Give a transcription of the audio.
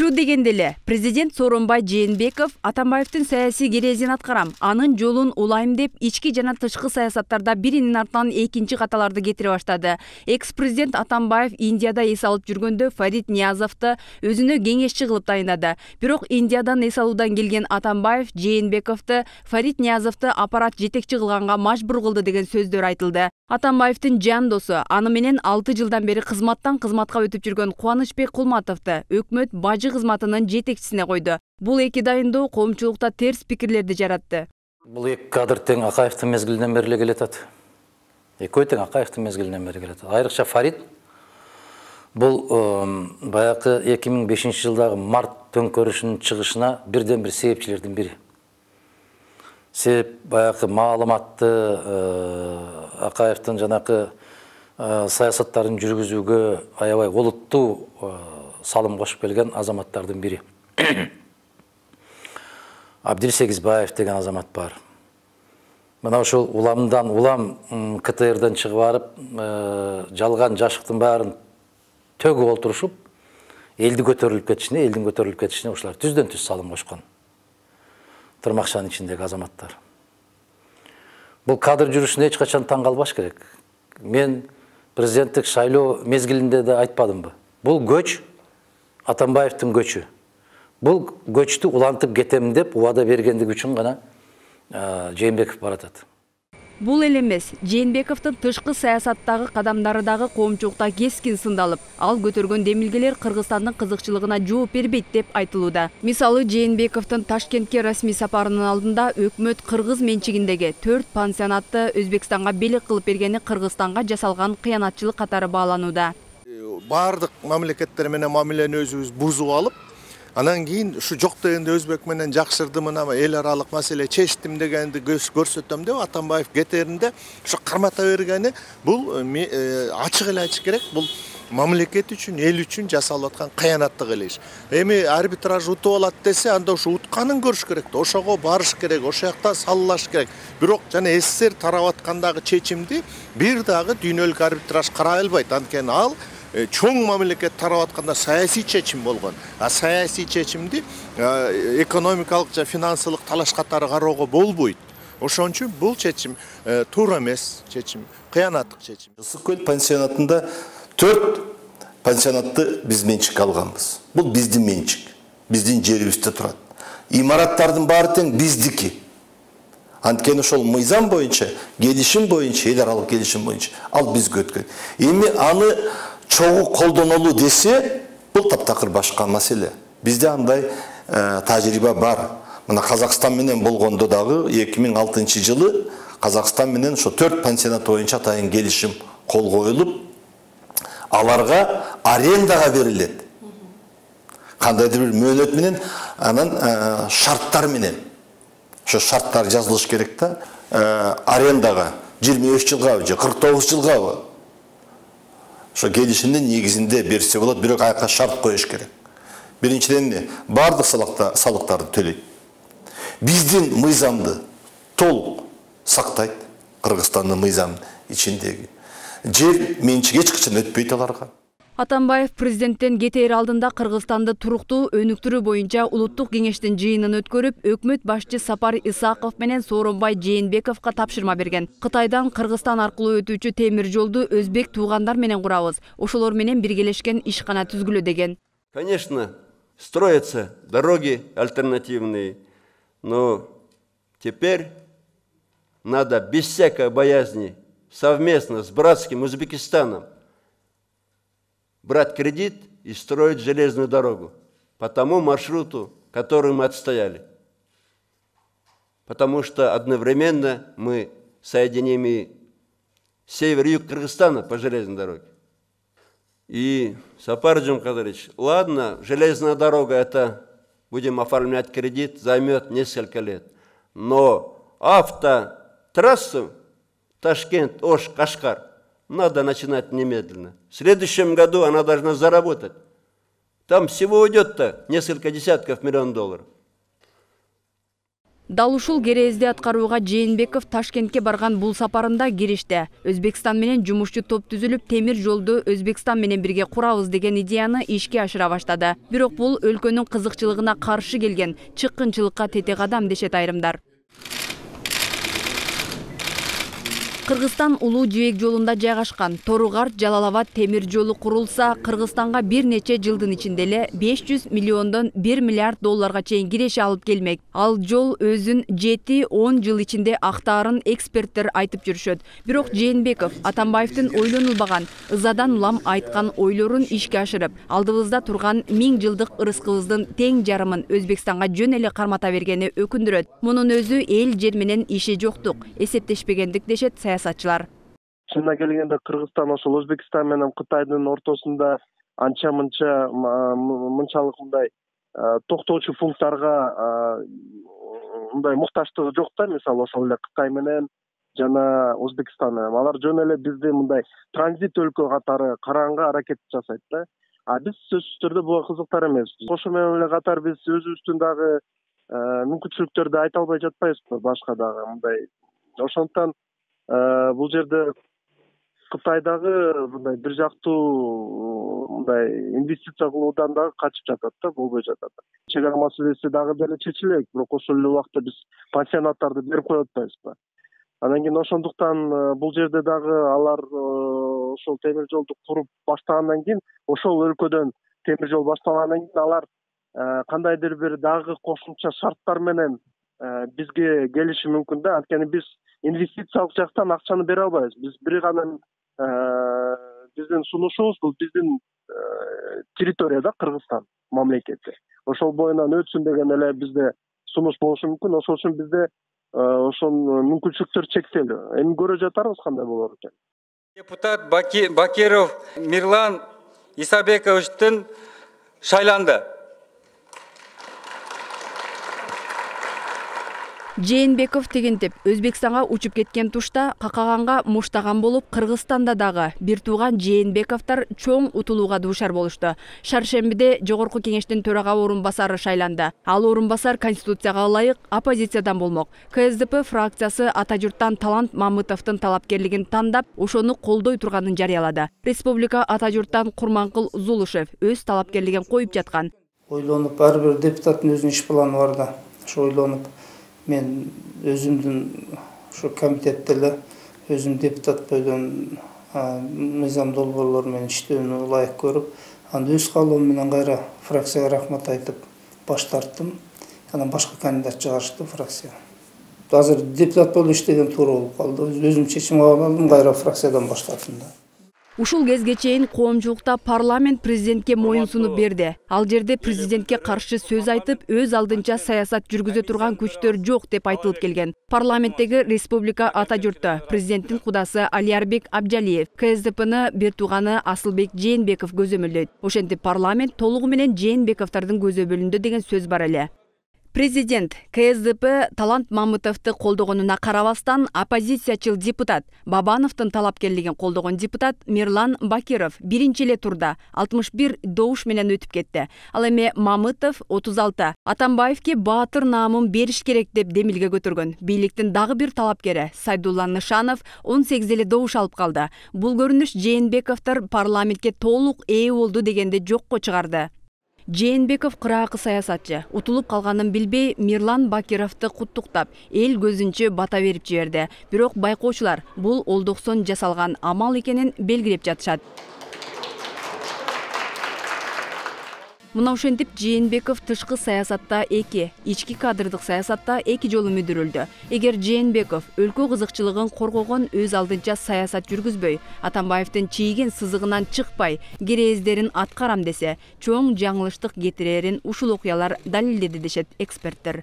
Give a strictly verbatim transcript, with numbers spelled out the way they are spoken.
Чу дегенде эле президент Сооронбай Жээнбеков Атамбаевдин саясий керезин аткарам, анын жолун улайм деп ички жана тышкы саясаттарда биринин артынан экинчи каталарды кетире баштады. Экс-президент Атамбаев Индияда эс алып жүргөндө Фарид Ниязовду өзүнө кеңешчи кылып тайындады. Бирок Индиядан эс алуудан келген Атамбаев Жээнбековду Фарид Ниязовду аппарат жетекчи кылганга мажбур кылды деген сөздөр айтылды. Атамбаевдин жан досу, аны менен алты жылдан бери кызматтан кызматка өтүп жүргөн Кубанычбек Кулматовду өкмөт бажы кызматынын жетекчисине койду. Бул эки дайындоо коомчулукта терс пикирлерди жаратты. Бул эки кадр тең Акаевдин мезгилинен бери келатат. Экөө тең Акаевдин мезгилинен бери келатат. Айрыкча Фарид бул баягы эки миң бешинчи жылдагы март төңкөрүшүнүн чыгышына бирден бир себепчилердин бири. Себеп баягы маалыматты Акаевдин жанакы саясаттарын жүргүзүүгө аябай олуттуу салым кошуп келген азаматтардын бири. Абдилсегизбаев деген азамат бар. Мына ошол уламдан улам КТРден чыгып барып, жалган жашыктын баарын төгүп олтурушуп, элди көтөрүлүп кетишине, элдин көтөрүлүп кетишине ушулар түздөн түз салым кошкон. Тырмакчанын ичиндеги азаматтар. Бул кадр жүрүшүнө эч качан таң калбаш керек. Мен президенттик шайлоо мезгилинде да айтпадымбы? Бул көч Атамбаевдин көчү. Бул көчтү улантып кетем деп убада бергендиги үчүн гана Жээнбеков баратат. Бул эле эмес, Жээнбековдун тышкы саясаттагы кадамдары дагы коомчулукта кескин сындалып, ал көтөргөн демилгелер Кыргызстандын кызыкчылыгына жооп бербейт деп айтылууда. Мисалы, Жээнбековдун Ташкентке расмий сапарынын алдында өкмөт кыргыз менчигиндеги төрт пансионатты Өзбекстанга белек кылып бергени Кыргызстанга жасалган кыянатчылык катары бааланууда. Бардык мамлекеттер менен мамилени өзүбүз бузуп алып, анан кийин ушу жок дегенде Өзбек менен жакшырдым, мына эл аралык маселе чечтим дегенди көрсөтөм деп Атамбаев кетеринде ушу кармата бергени бул ачык эле айтыш керек, бул мамлекет үчүн, эл үчүн жасалып аткан кыянаттык эле иш. Эми арбитраж утуп алат десе, анда ушу утканын көрүш керек, ошого барыш керек, ошол жакта саллаш керек. Бирок жана СССР тарап аткандагы чечимди бир дагы дүйнөлүк арбитраж карай албайт. Анткени ал чоң мамлекет тарап атканда саясий чечим болгон. А саясий чечимди экономикалык жана финансылык талаш катары кароого болбойт. Ошон үчүн бул чечим туура эмес чечим, кыянаттык чечим. Ысык көл пансионатында төрт пансионатты биз менчикке алганбыз. Бул биздин менчик, биздин жерибизде турат. Имараттардын баары тең биздики. Анткени ошол мыйзам боюнча, келишим боюнча, эл аралык келишим боюнча ал бизге өткөн. Эми аны чогуу колдонолу десе, бул таптакыр башка маселе. Бизде андай тажрыйба бар. Мына Казакстан менен болгондо дагы эки миң алтынчы жылы Казакстан менен ошо төрт пансионат боюнча атайын келишим кол коюлуп, аларга арендага берилет. Кандайдыр бир мөөнөт менен, анан шарттар менен. Ошо шарттар жазылыш керек да. Арендага жыйырма беш жылгабы же кырк тогуз жылгабы. Ошо келишимдин негизинде берсе болот, бирок аяка шарт коюш керек. Биринчиден бардык салыктарды төлөйт. Биздин мыйзамды толук сактайт, Кыргызстандын мыйзам ичиндеги. Жер менчик эч качан өтпөйт аларга. Атамбаев президенттен кетээр алдында Кыргызстанды туруктуу өнүктүрүү боюнча улуттук кеңештин жыйынын өткөрүп, өкмөт башчы Сапар Исаков менен Сооронбай Жээнбековго тапшырма берген. Кытайдан Кыргызстан аркылуу өтүүчү темир жолду өзбек туугандар менен курабыз. Ошолор менен биргелешкен ишкана түзгүлө деген. Конечно, строятся дороги альтернативные, но теперь надо без всякой боязни совместно с братским Узбекистаном брать кредит и строить железную дорогу по тому маршруту, который мы отстояли. Потому что одновременно мы соединим и север и юг Кыргызстана по железной дороге. И, Сапар Джумкадырович, ладно, железная дорога, это будем оформлять кредит, займет несколько лет. Но автотрассу Ташкент, Ош, Кашкар надо начинать немедленно. В следующем году она должна заработать. Там всего уйдет-то несколько десятков миллионов долларов. Дал ушул керезди аткарууга Жээнбеков Ташкентке барган бул сапарында киришти. Өзбекстан менен жумушчу топ түзүлүп, темир жолду Өзбекстан менен бирге курабыз деген идеяны ишке ашыра баштады. Бирок бул өлкөнүн кызыкчылыгына каршы келген, чыккынчылыкка тете кадам дешет айрымдар. Кыргызстан улуу жибек жолунда жайгашкан Торугарт-Жалал-Абад темир жолу курулса, Кыргызстанга бир нече жылдын ичинде эле беш жүз миллиондон бир миллиард долларга чейин киреше алып келмек. Ал жол өзүн жети он жыл ичинде актаарын эксперттер айтып жүрүшөт. Бирок Жээнбеков Атамбаевдин ойлонулбаган, ызадан улам айткан ойлорун ишке ашырып, алдыбызда турган миң жылдык ырыскыбыздын тең жарымын Өзбекстанга жөн эле кармата бергени өкүндүрөт. Мунун өзү эл жер менен иши жоктук, эсептешпегендик дешет саясатчылар. Чынына келгенде Кыргызстан ошол Өзбекстан менен Кытайдын ортосунда анча-мынча мынчалык мындай токтоочу пункттарга мындай муктачтыгы жок да, мисалы ошол эле Кытай менен жана Өзбекстан менен. Алар жөн эле бизди мындай транзит өлкө катары караганга аракет жасайт да. А биз сөзсүз түрдө буга кызыктар эмеспиз. Ошо менен эле катар биз өзүбүздүн дагы мүмкүнчүлүктөрдү айта албай жатпайбызбы башка дагы мындай. Ошондуктан бул жерде Кытайдагы мындай бир жактуу мындай инвестиция кылуудан дагы качып жатат да, болбой жатат. Чек ара маселеси дагы деле чечилет, бирок ошол эле убакта биз пансионаттарды берип коюп атпайбызбы? Анан кийин ошондуктан бул жерде дагы алар ошол темир жолду куруп баштагандан кийин, ошол өлкөдөн темир жол башталгандан кийин алар кандайдыр бир дагы кошумча шарттар менен бизге келиши мүмкүн да. Анткени биз инвестициялык жактан акчаны бере албайбыз. Биз бир гана биздин сунушубуз бул биздин территорияда Кыргызстан мамлекети. Ошол боюнан өтсүн деген эле бизде сунуш болушу мүмкүн. Ошол үчүн бизде ошол мүмкүнчүлүктөр чектелүү. Эми көрө жатарбыз кандай болор экен. Депутат Бакиров Мирлан Исабековичтин шайланды. Жээнбеков тегентип Өзбекстанга учуп кеткен тушта какаганга муштаган болуп, Кыргызстанда дагы бир тууган Жээнбековдор чоң утулууга дуушар болушту. Шаршембиде Жогорку кеңештин төрага орун басары шайланды. Ал орун басар Конституцияга ылайык оппозициядан болмок. КСДП фракциясы Атажурттан Талант Мамытовдун талапкерлигин тандап, ошону колдой турганын жарыялады. Республика Атажурттан Курманкул Зулушев өз талапкерлигин коюп жаткан. Ойлонуп, ар бир депутаттын өзүнүн иш планы бар да. Ошо ойлонуп мен өзүмдүн ушу комитетте эле өзүм депутат бойдон мыйзам долбоорлор менен иштөөнү ылайык көрүп, анда өз каалоом менен кайра фракцияга рахмат айтып баш тарттым. Анан башка кандидат чыгарышты фракция. Азыр депутат болуп иштеген туура болуп калды. Өзүм чечим кабыл алдым, кайра фракциядан баш тарттым да. Ушул кезге чейин коомчулукта парламент президентке моюн сунуп берди. Ал жерде президентке каршы сөз айтып, өз алдынча саясат жүргүзө турган күчтөр жок деп айтылып келген. Парламенттеги Республика Атажуртта президенттин кудасы Алиярбек Абджалиев, КСДПны бир тууганы Асылбек Жээнбеков көзөмөлдөйт. Ошентип парламент толугу менен Жээнбековдордун көзөмөлүндө деген сөз бар эле. Президент КСДП Талант Мамытовду колдогонуна карабастан, оппозициячыл депутат Бабановдун талапкерлигин колдогон депутат Мирлан Бакиров биринчи эле турда алтымыш бир добуш менен өтүп кетти. Ал эми Мамытов отуз алты. Атамбаевге баатыр наамын бериш керек деп демилге көтөргөн. Бийликтин дагы бир талапкери Сайдулла Нышанов он сегиз эле добуш алып калды. Бул көрүнүш Жээнбековдор парламентке толук ээ болду дегенди жокко чыгарды. Жээнбеков кыраакы саясатчы. Утулуп калганын билбей, Мирлан Бакировду куттуктап, эл көзүнчө бата берип жиберди. Бирок байкоочулар бул олдоксон жасалган амал экенин белгилеп жатышат. Мына ошентип Жээнбеков тышкы саясатта эки, ички кадрдык саясатта эки жолу мүдүрүлдү. Эгер Жээнбеков өлкө кызыкчылыгын коргогон өз алдынча саясат жүргүзбөй, Атамбаевдин чийген сызыгынан чыкпай, керездерин аткарам десе, чоң жаңылыштык кетирерин ушул окуялар далилдеди дешет эксперттер.